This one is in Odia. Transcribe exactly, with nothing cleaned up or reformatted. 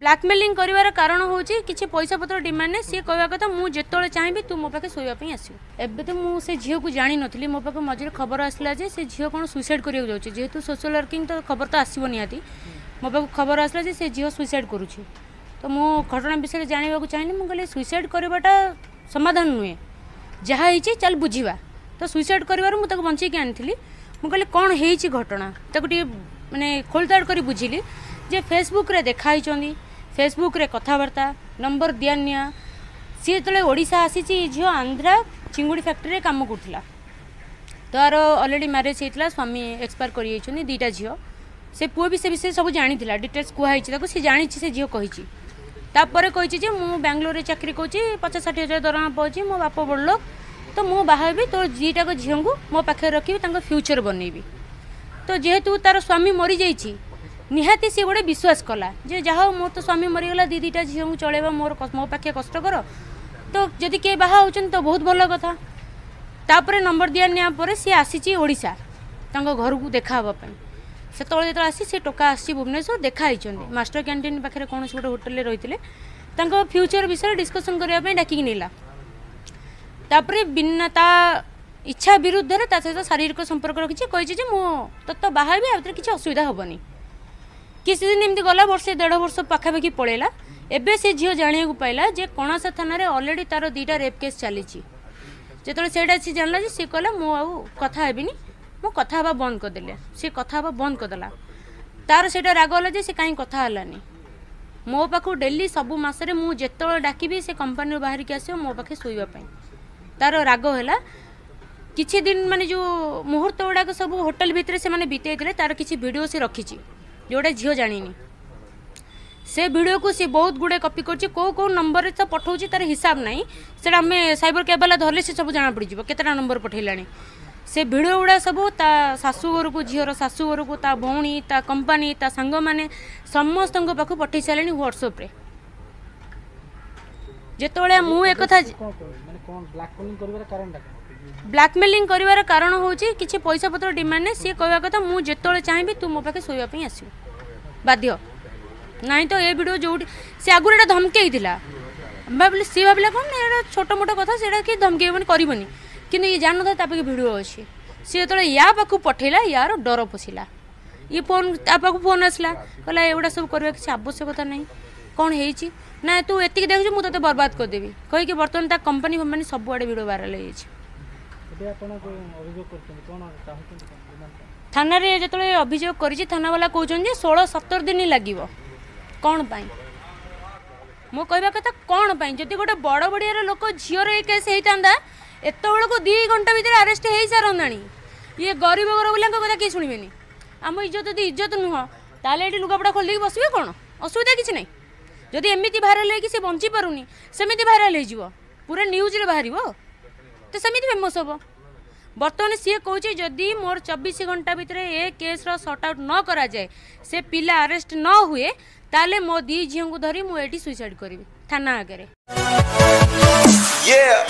ବ୍ଲାକମେଲିଂ କରିବାର କାରଣ ହେଉଛି କିଛି ପଇସା ପତ୍ର ଡିମାଣ୍ଡ ନାହିଁ। ସିଏ କହିବା କଥା, ମୁଁ ଯେତେବେଳେ ଚାହିଁବି ତୁ ମୋ ପାଖେ ଶୋଇବା ପାଇଁ ଆସିବୁ। ଏବେ ତ ମୁଁ ସେ ଝିଅକୁ ଜାଣିନଥିଲି। ମୋ ପାଖକୁ ମଝିରେ ଖବର ଆସିଲା ଯେ ସେ ଝିଅ କ'ଣ ସୁଇସାଇଡ଼ କରିବାକୁ ଯାଉଛି। ଯେହେତୁ ସୋସିଆଲ ୱାର୍କିଂ, ତ ଖବର ତ ଆସିବ ନିହାତି। ମୋ ପାଖକୁ ଖବର ଆସିଲା ଯେ ସେ ଝିଅ ସୁଇସାଇଡ଼ କରୁଛି। ତ ମୁଁ ଘଟଣା ବିଷୟରେ ଜାଣିବାକୁ ଚାହିଁଲି। ମୁଁ କହିଲି, ସୁଇସାଇଡ଼ କରିବାଟା ସମାଧାନ ନୁହେଁ, ଯାହା ହେଇଛି ଚାଲ ବୁଝିବା। ତ ସୁଇସାଇଡ଼ କରିବାରୁ ମୁଁ ତାକୁ ବଞ୍ଚେଇକି ଆଣିଥିଲି। ମୁଁ କହିଲି, କ'ଣ ହେଇଛି ଘଟଣା? ତାକୁ ଟିକେ ମାନେ ଖୋଳତାଡ଼ କରି ବୁଝିଲି ଯେ ଫେସବୁକ୍ରେ ଦେଖା ହେଇଛନ୍ତି, ଫେସବୁକ୍ରେ କଥାବାର୍ତ୍ତା, ନମ୍ବର ଦିଆ ନିଆ। ସିଏ ଯେତେବେଳେ ଓଡ଼ିଶା ଆସିଛି, ଏ ଝିଅ ଆନ୍ଧ୍ରା ଚିଙ୍ଗୁଡ଼ି ଫ୍ୟାକ୍ଟ୍ରିରେ କାମ କରୁଥିଲା। ତାର ଅଲରେଡ଼ି ମ୍ୟାରେଜ୍ ହେଇଥିଲା, ସ୍ୱାମୀ ଏକ୍ସପାୟାର କରିଯାଇଛନ୍ତି, ଦୁଇଟା ଝିଅ। ସେ ପୁଅ ବି ସେ ବିଷୟରେ ସବୁ ଜାଣିଥିଲା, ଡିଟେଲ୍ସ କୁହାହେଇଛି ତାକୁ, ସେ ଜାଣିଛି। ସେ ଝିଅ କହିଛି, ତାପରେ କହିଛି ଯେ ମୁଁ ବାଙ୍ଗଲୋରରେ ଚାକିରି କରୁଛି, ପଚାଶ ଷାଠିଏ ହଜାର ଦରମା ପାଉଛି, ମୋ ବାପ ବଡ଼ ଲୋକ, ତ ମୁଁ ବାହା ହେବି, ତୋ ଦୁଇଟାକ ଝିଅଙ୍କୁ ମୋ ପାଖରେ ରଖିବି, ତାଙ୍କ ଫ୍ୟୁଚର ବନେଇବି। ତ ଯେହେତୁ ତାର ସ୍ୱାମୀ ମରିଯାଇଛି, ନିହାତି ସିଏ ଗୋଟେ ବିଶ୍ୱାସ କଲା ଯେ ଯାହା ହଉ, ମୋର ତ ସ୍ୱାମୀ ମରିଗଲା, ଦୁଇ ଦୁଇଟା ଝିଅଙ୍କୁ ଚଳେଇବା ମୋର ମୋ ପାଖେ କଷ୍ଟକର, ତ ଯଦି କିଏ ବାହା ହେଉଛନ୍ତି ତ ବହୁତ ଭଲ କଥା। ତାପରେ ନମ୍ବର ଦିଆ ନିଆ ପରେ ସିଏ ଆସିଛି ଓଡ଼ିଶା ତାଙ୍କ ଘରକୁ ଦେଖା ହେବା ପାଇଁ। ସେତେବେଳେ ଯେତେବେଳେ ଆସି ସେ ଟୋକା ଆସିଛି ଭୁବନେଶ୍ୱର, ଦେଖା ହେଇଛନ୍ତି ମାଷ୍ଟର କ୍ୟାଣ୍ଟିନ୍ ପାଖରେ କୌଣସି ଗୋଟେ ହୋଟେଲରେ ରହିଥିଲେ। ତାଙ୍କ ଫ୍ୟୁଚର ବିଷୟରେ ଡିସ୍କସନ୍ କରିବା ପାଇଁ ଡାକିକି ନେଲା। ତାପରେ ବିନା ତା ଇଚ୍ଛା ବିରୁଦ୍ଧରେ ତା ସହିତ ଶାରୀରିକ ସମ୍ପର୍କ ରଖିଛି। କହିଛି ଯେ ମୁଁ ତୋତେ ବାହା ହେବି, ଆ ଭିତରେ କିଛି ଅସୁବିଧା ହେବନି। କିଛି ଦିନ ଏମିତି ଗଲା, ବର୍ଷେ ଦେଢ଼ ବର୍ଷ ପାଖାପାଖି ପଳେଇଲା। ଏବେ ସେ ଝିଅ ଜାଣିବାକୁ ପାଇଲା ଯେ କଣାସ ଥାନାରେ ଅଲରେଡ଼ି ତାର ଦୁଇଟା ରେପ୍ କେସ୍ ଚାଲିଛି। ଯେତେବେଳେ ସେଇଟା ସେ ଜାଣିଲା ଯେ ସିଏ କହିଲା, ମୁଁ ଆଉ କଥା ହେବିନି, ମୁଁ କଥା ହେବା ବନ୍ଦ କରିଦେଲେ। ସେ କଥା ହେବା ବନ୍ଦ କରିଦେଲା। ତାର ସେଇଟା ରାଗ ହେଲା ଯେ ସେ କାହିଁ କଥା ହେଲାନି ମୋ ପାଖକୁ। ଡେଲି ସବୁ ମାସରେ ମୁଁ ଯେତେବେଳେ ଡାକିବି, ସେ କମ୍ପାନୀରୁ ବାହାରିକି ଆସିବ ମୋ ପାଖେ ଶୋଇବା ପାଇଁ। ତାର ରାଗ ହେଲା। କିଛି ଦିନ ମାନେ ଯେଉଁ ମୁହୂର୍ତ୍ତ ଗୁଡ଼ାକ ସବୁ ହୋଟେଲ ଭିତରେ ସେମାନେ ବିତେଇଥିଲେ, ତାର କିଛି ଭିଡ଼ିଓ ସେ ରଖିଛି, ଯେଉଁଟା ଝିଅ ଜାଣିନି। ସେ ଭିଡ଼ିଓକୁ ସେ ବହୁତ ଗୁଡ଼େ କପି କରୁଛି, କେଉଁ କେଉଁ ନମ୍ବରରେ ତ ପଠାଉଛି ତାର ହିସାବ ନାହିଁ। ସେଇଟା ଆମେ ସାଇବର କ୍ୟାବ୍ ବାଲା ଧରିଲେ ସେ ସବୁ ଜଣାପଡ଼ିଯିବ କେତେଟା ନମ୍ବର ପଠେଇଲାଣି। ସେ ଭିଡ଼ିଓ ଗୁଡ଼ା ସବୁ ତା ଶାଶୁଘରକୁ, ଝିଅର ଶାଶୁଘରକୁ, ତା ଭଉଣୀ, ତା କମ୍ପାନୀ, ତା ସାଙ୍ଗମାନେ ସମସ୍ତଙ୍କ ପାଖକୁ ପଠେଇ ସାରିଲେଣି ହ୍ୱାଟ୍ସଆପ୍ରେ। ଯେତେବେଳେ ମୁଁ ଏକଥା ବ୍ଲାକମେଲିଂ କରିବାର କାରଣ ହେଉଛି କିଛି ପଇସା ପତ୍ର ଡିମାଣ୍ଡ ନାହିଁ। ସିଏ କହିବା କଥା, ମୁଁ ଯେତେବେଳେ ଚାହିଁବି ତୁ ମୋ ପାଖେ ଶୋଇବା ପାଇଁ ଆସିବୁ, ବାଧ୍ୟ ନାହିଁ। ତ ଏ ଭିଡ଼ିଓ ଯେଉଁଠି ସେ ଆଗରୁ ଏଇଟା ଧମକେଇଥିଲା, ଭାବିଲେ, ସିଏ ଭାବିଲା କ'ଣ ନା ଏଇଟା ଛୋଟ ମୋଟ କଥା, ସେଇଟା କିଏ ଧମକେଇବନି, କରିବନି। କିନ୍ତୁ ଇଏ ଜାଣିନଥିଲା ତା ପାଖେ ଭିଡ଼ିଓ ଅଛି। ସିଏ ଯେତେବେଳେ ୟା ପାଖକୁ ପଠେଇଲା, ୟାର ଡର ପଶିଲା। ଇଏ ଫୋନ୍, ତା ପାଖକୁ ଫୋନ୍ ଆସିଲା, କହିଲା, ଏଗୁଡ଼ା ସବୁ କରିବା କିଛି ଆବଶ୍ୟକତା ନାହିଁ, କ'ଣ ହେଇଛି ନା ତୁ ଏତିକି ଦେଖୁଛୁ, ମୁଁ ତୋତେ ବର୍ବାଦ କରିଦେବି କହିକି। ବର୍ତ୍ତମାନ ତା କମ୍ପାନୀ ଫମ୍ପାନୀ ସବୁଆଡ଼େ ଭିଡ଼ିଓ ଭାଇରାଲ ହେଇଯାଇଛି। ଥାନାରେ ଯେତେବେଳେ ଅଭିଯୋଗ କରିଛି, ଥାନାବାଲା କହୁଛନ୍ତି ଯେ ଷୋହଳ ସତର ଦିନ ଲାଗିବ। କ'ଣ ପାଇଁ? ମୋ କହିବା କଥା, କ'ଣ ପାଇଁ? ଯଦି ଗୋଟେ ବଡ଼ ବଡ଼ିଆର ଲୋକ ଝିଅର ଏ କେସ୍ ହେଇଥାନ୍ତା, ଏତେବେଳକୁ ଦୁଇ ଘଣ୍ଟା ଭିତରେ ଆରେଷ୍ଟ ହେଇସାରନ୍ତାଣି। ଇଏ ଗରିବ ଘର ବୋଲାଙ୍କ କଥା କିଏ ଶୁଣିବେନି। ଆମ ଇଜ୍ଜତ ଯଦି ଇଜ୍ଜତ ନୁହଁ, ତାହେଲେ ଏଠି ଲୁଗାପଟା ଖୋଲିଦେଇକି ବସିବେ, କ'ଣ ଅସୁବିଧା? କିଛି ନାହିଁ। ଯଦି ଏମିତି ଭାଇରାଲ ହେଇକି ସେ ବଞ୍ଚି ପାରୁନି, ସେମିତି ଭାଇରାଲ ହେଇଯିବ, ପୁରା ନ୍ୟୁଜ୍ରେ ବାହାରିବ, ତ ସେମିତି ଫେମସ୍ ହେବ। ବର୍ତ୍ତମାନ ସିଏ କହୁଛି, ଯଦି ମୋର ଚବିଶ ଘଣ୍ଟା ଭିତରେ ଏ କେସ୍ର ସର୍ଟ ଆଉଟ୍ ନ କରାଯାଏ, ସେ ପିଲା ଆରେଷ୍ଟ ନ ହୁଏ, ତାହେଲେ ମୋ ଦୁଇ ଝିଅଙ୍କୁ ଧରି ମୁଁ ଏଇଠି ସୁଇସାଇଡ଼ କରିବି ଥାନା ଆଗରେ। Yeah.